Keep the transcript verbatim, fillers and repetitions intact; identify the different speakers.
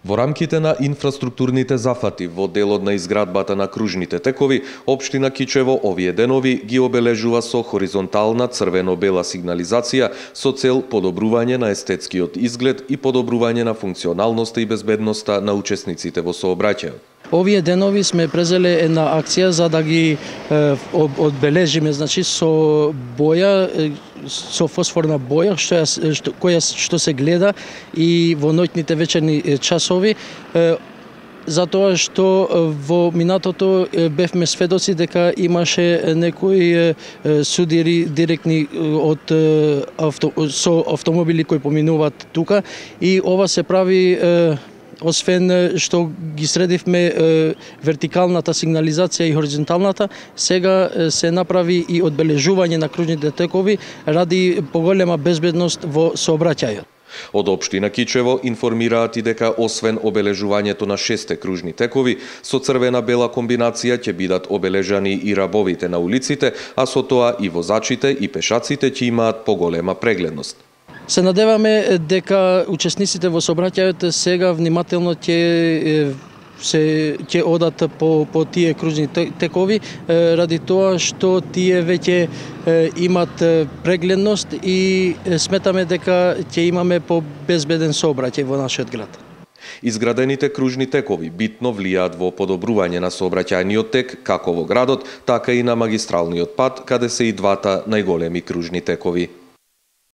Speaker 1: Во рамките на инфраструктурните зафати во делот на изградбата на кружните текови, општина Кичево овие денови ги обележува со хоризонтална црвено-бела сигнализација со цел подобрување на естетскиот изглед и подобрување на функционалноста и безбедноста на учесниците во сообраќајот.
Speaker 2: Овие денови сме презеле една акција за да ги е, одбележиме, значи со боја, со фосфорна боја што ја, што, која што се гледа и во ноќните вечерни часови, е, затоа што во минатото бевме сведоци дека имаше некои судири директни од авто, со автомобили кои поминуваат тука и ова се прави е, освен што ги средивме е, вертикалната сигнализација и хоризонталната, сега се направи и одбележување на кружните текови ради поголема безбедност во сообраќајот.
Speaker 1: Од општина Кичево информираат и дека освен обележувањето на шесте кружни текови, со црвена-бела комбинација ќе бидат обележани и рабовите на улиците, а со тоа и возачите и пешаците ќе имаат поголема прегледност.
Speaker 2: Се надеваме дека учесниците во сообраќајот сега внимателно ќе се ќе одат по по тие кружни текови ради тоа што тие веќе имат прегледност и сметаме дека ќе имаме побезбеден сообраќај во нашиот град.
Speaker 1: Изградените кружни текови битно влијаат во подобрување на сообраќајниот тек како во градот, така и на магистралниот пат, каде се и двата најголеми кружни текови.